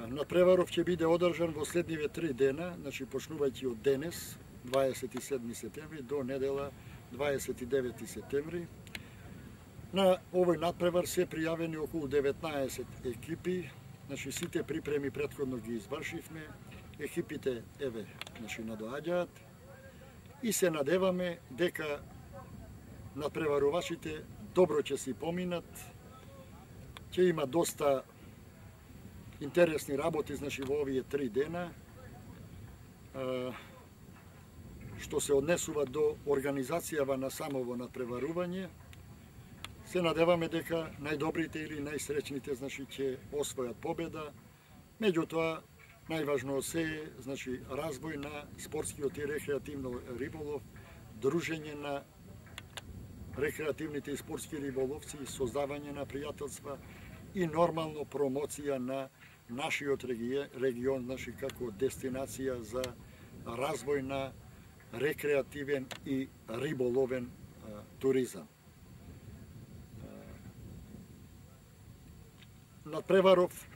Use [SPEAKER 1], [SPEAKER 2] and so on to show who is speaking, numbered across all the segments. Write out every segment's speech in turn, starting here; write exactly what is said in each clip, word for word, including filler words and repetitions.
[SPEAKER 1] Надпреваров ќе биде одржан во следниве три дена, значи почнувајќи од денес, дваесет и седми септември, до недела дваесет и девети септември. На овој надпревар се пријавени околу деветнаесет екипи, значи сите припреми претходно ги извршивме, екипите еве, значи надоаѓаат и се надеваме дека надпреварувачите добро ќе си поминат, ќе има доста интересни работи, значи во овие три дена, што се однесува до организацијава на самово надпреварување. Се надеваме дека најдобрите или најсреќните, значи, ќе освојат победа. Меѓутоа, најважно се е, значи, развој на спортскиот и рекреативно риболов, дружење на рекреативните и спортски риболовци, создавање на пријателства и нормално промоција на нашиот регион, значи, како дестинација за развој на рекреативен и риболовен а, туризам. Надпреваров,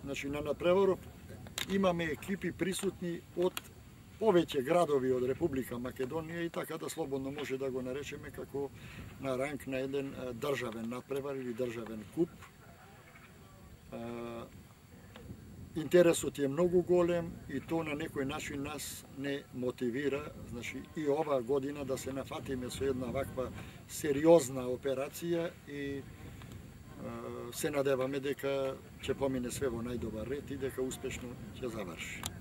[SPEAKER 1] значи на надпреваров имаме екипи присутни од повеќе градови од Република Македонија и така да слободно може да го наречеме како на ранг на еден државен надпревар или државен куп. Интересот е многу голем и тоа на некој начин нас не мотивира, значи и оваа година да се нафатиме со една ваква сериозна операција и се надеваме дека ќе помине све во најдобар ред и дека успешно ќе заврши.